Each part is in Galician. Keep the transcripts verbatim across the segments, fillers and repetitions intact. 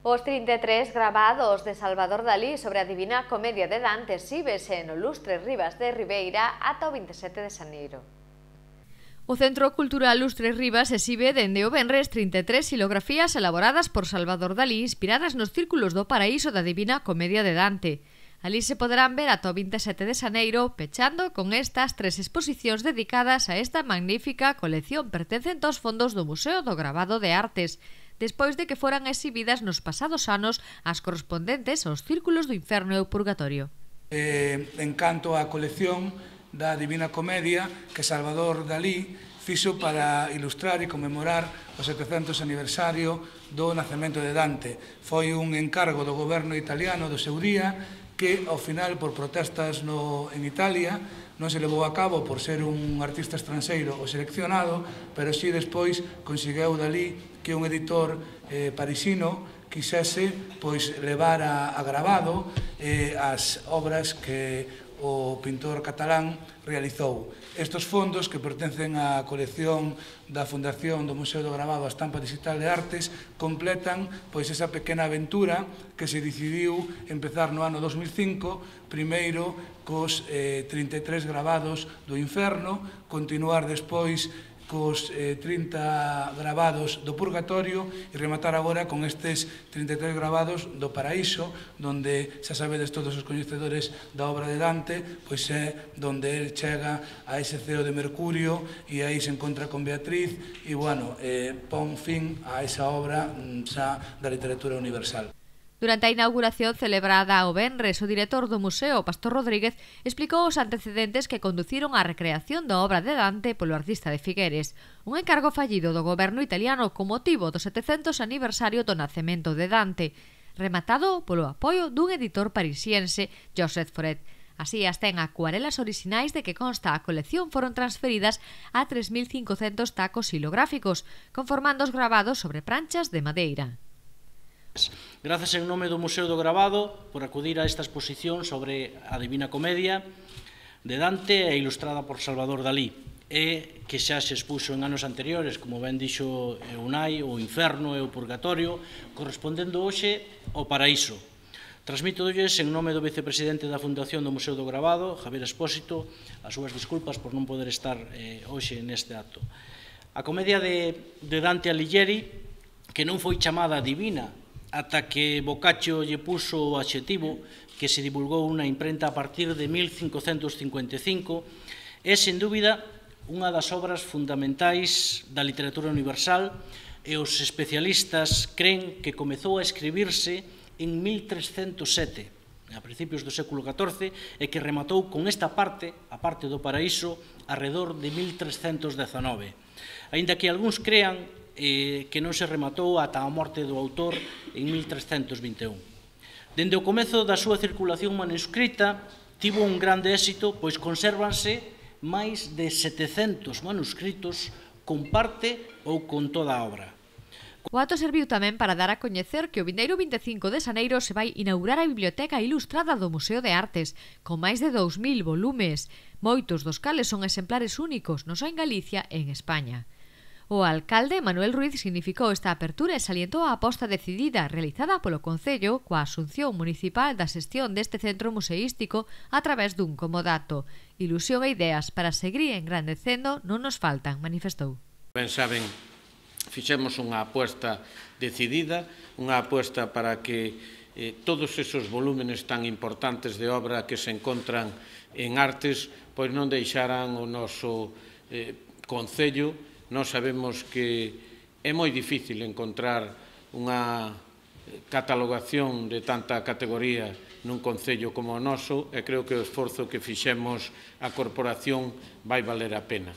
Os trinta e tres gravados de Salvador Dalí sobre a Divina Comedia de Dante exhíbese no Lustre Rivas de Ribeira ata o vinte e sete de xaneiro. O Centro Cultural Lustre Rivas exhibe dende o venres trinta e tres xilografías elaboradas por Salvador Dalí inspiradas nos círculos do paraíso da Divina Comedia de Dante. Alí se poderán ver ata o vinte e sete de xaneiro, pechando con estas tres exposicións dedicadas a esta magnífica colección pertencente aos fondos do Museo do Gravado de Artes, despois de que foran exhibidas nos pasados anos as correspondentes aos círculos do inferno e o purgatorio. Eh, en canto á colección da Divina Comedia que Salvador Dalí fixo para ilustrar e conmemorar o setecentos aniversario do nacemento de Dante. Foi un encargo do goberno italiano do seu día que, ao final, por protestas no, en Italia, non se levou a cabo por ser un artista estranxeiro o seleccionado, pero si despois conseguiu Dalí que un editor eh, parisino quixese pois, levar a, a gravado eh, as obras que o pintor catalán realizou. Estes fondos, que pertencen á colección da Fundación do Museo do Gravado a Estampa Digital de Artes, completan pois esa pequena aventura que se decidiu empezar no ano dos mil cinco, primeiro cos eh, trinta e tres gravados do inferno, continuar despois cos eh, trinta gravados do purgatorio e rematar agora con estes trinta e tres gravados do paraíso, donde xa sabedes todos os coñecedores da obra de Dante, pois é donde el chega a ese ceo de Mercurio e aí se encontra con Beatriz e, bueno, eh, pon fin a esa obra xa da literatura universal. Durante a inauguración celebrada o venres, o director do museo, Pastor Rodríguez, explicou os antecedentes que conduciron á recreación da obra de Dante polo artista de Figueres, un encargo fallido do goberno italiano con motivo do setecentos aniversario do nacemento de Dante, rematado polo apoio dun editor parisiense, Joseph Foret. Así, as ten acuarelas orixinais de que consta a colección foron transferidas a tres mil cincocentos tacos xilográficos, conformando os gravados sobre pranchas de madeira. Grazas en nome do Museo do Gravado por acudir a esta exposición sobre a Divina Comedia de Dante e ilustrada por Salvador Dalí, e que xa se expuxo en anos anteriores, como ben dixo Unai, o inferno e o purgatorio, correspondendo hoxe ao paraíso. Transmítolles en nome do vicepresidente da Fundación do Museo do Gravado, Javier Expósito, as súas disculpas por non poder estar eh, hoxe neste acto. A comedia de, de Dante Alighieri, que non foi chamada divina ata que Boccaccio lle puso o adxetivo que se divulgou unha imprenta a partir de mil cincocentos cincuenta e cinco, é, sen dúbida, unha das obras fundamentais da literatura universal e os especialistas cren que comezou a escribirse en mil trescentos sete, a principios do século catorce, e que rematou con esta parte, a parte do paraíso, arredor de mil trescentos dezanove. Aínda que algúns crean eh, que non se rematou ata a morte do autor en mil trescentos vinte e un. Dende o comezo da súa circulación manuscrita, tivo un grande éxito, pois consérvanse máis de setecentos manuscritos con parte ou con toda a obra. O acto serviu tamén para dar a coñecer que o vindeiro vinte e cinco de xaneiro se vai inaugurar a Biblioteca Ilustrada do Museo de Artes, con máis de dous mil volumes, moitos dos cales son exemplares únicos, non só en Galicia e en España. O alcalde Manuel Ruiz significou esta apertura e salientou a aposta decidida realizada polo Concello coa asunción municipal da xestión deste centro museístico a través dun comodato. Ilusión e ideas para seguir engrandecendo non nos faltan, manifestou. Ben saben, fixemos unha aposta decidida, unha aposta para que eh, todos esos volúmenes tan importantes de obra que se encontran en Artes pois non deixaran o noso eh, Concello. Nós sabemos que é moi difícil encontrar unha catalogación de tanta categoría nun concello como o noso e creo que o esforzo que fixemos a corporación vai valer a pena.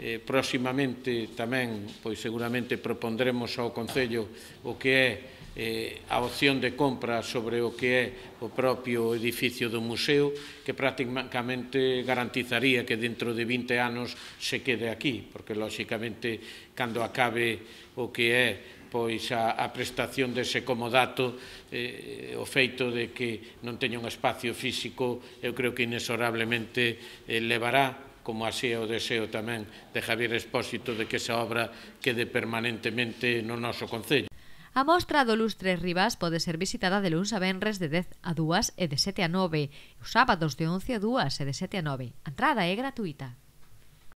Eh, próximamente tamén, pois seguramente propondremos ao Concello o que é eh, a opción de compra sobre o que é o propio edificio do museo, que prácticamente garantizaría que dentro de vinte anos se quede aquí, porque lóxicamente cando acabe o que é pois a, a prestación dese comodato, eh, o feito de que non teña un espacio físico, eu creo que inexorablemente eh, levará, como así é o deseo tamén de Javier Expósito, de que esa obra quede permanentemente no noso Concello. A mostra do Lustres Rivas pode ser visitada de luns a venres de dez a dúas e de sete a nove, e os sábados de once a dúas e de sete a nove. A entrada é gratuita.